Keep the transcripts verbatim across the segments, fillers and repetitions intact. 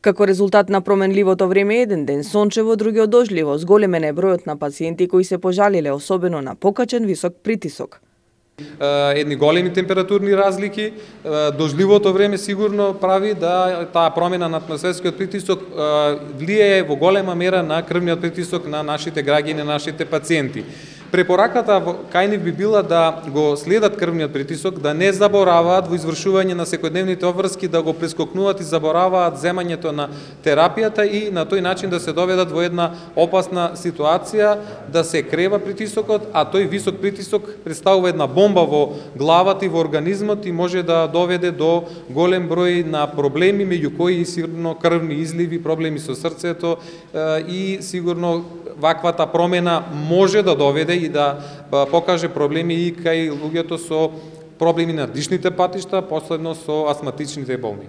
Како резултат на променливото време, еден ден сончево, другиот дожливо, зголемен е бројот на пациенти кои се пожалиле, особено на покачен висок притисок. Едни големи температурни разлики, дожливото време сигурно прави да таа промена на атмосферскиот притисок влијае во голема мера на крвниот притисок на нашите граѓани, на нашите пациенти. Препораката кај нив би била да го следат крвниот притисок, да не забораваат во извршување на секојдневните обврски, да го прескокнуваат и забораваат земањето на терапијата и на тој начин да се доведат во една опасна ситуација, да се крева притисокот, а тој висок притисок представува една бомба во главата и во организмот и може да доведе до голем број на проблеми, меѓу кои сигурно крвни изливи, проблеми со срцето и сигурно ваквата промена може да доведе и да покаже проблеми и кај луѓето со проблеми на дишните патишта, последно со астматичните болни.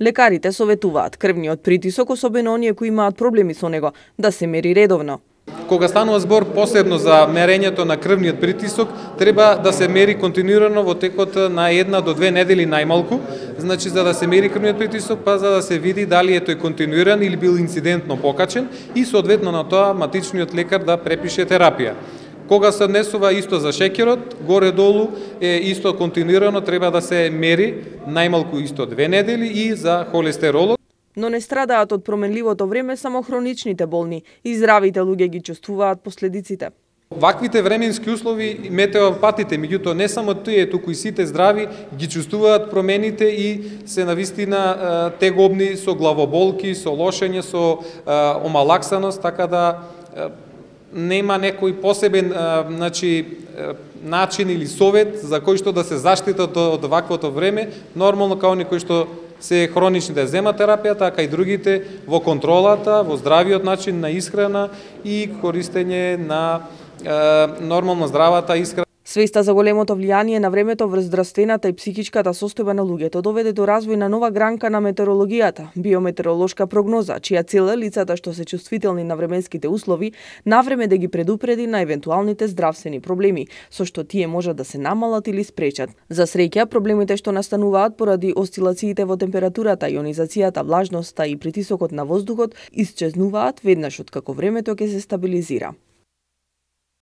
Лекарите советуваат крвниот притисок, особено оние кои имаат проблеми со него, да се мери редовно. Кога станува збор посебно за мерењето на крвниот притисок, треба да се мери континуирано во текот на една до две недели најмалку. Значи, за да се мери крвниот притисок, па за да се види дали е тој континуиран или бил инцидентно покачен и соодветно на тоа матичниот лекар да препише терапија. Кога се однесува исто за шеќерот, горе-долу е исто континуирано, треба да се мери најмалку исто две недели и за холестеролот. Но не страдаат од променливото време само хроничните болни и здравите луѓе ги чувствуваат последиците. Ваквите временски услови метеопатите, меѓутоа не само тие, туку и сите здрави ги чувствуваат промените и се навистина тегобни со главоболки, со лошење, со омалаксаност, така да нема некој посебен значи, начин или совет за кој што да се заштитат од ваквото време, нормално као некој што се хронични да земат терапијата, а и другите во контролата, во здравиот начин на исхрана и користење на е, нормално здравата исхрана. Свеста за големото влијание на времето врз здравствената и психичката состојба на луѓето доведе до развој на нова гранка на метеорологијата, биометеоролошка прогноза, чија цел е лицата што се чувствителни на временските услови навреме да ги предупреди на евентуалните здравствени проблеми, со што тие можат да се намалат или спречат. За среќа, проблемите што настануваат поради осцилациите во температурата, ионизацијата, влажноста и притисокот на воздухот исчезнуваат веднаш откако времето ќе се стабилизира.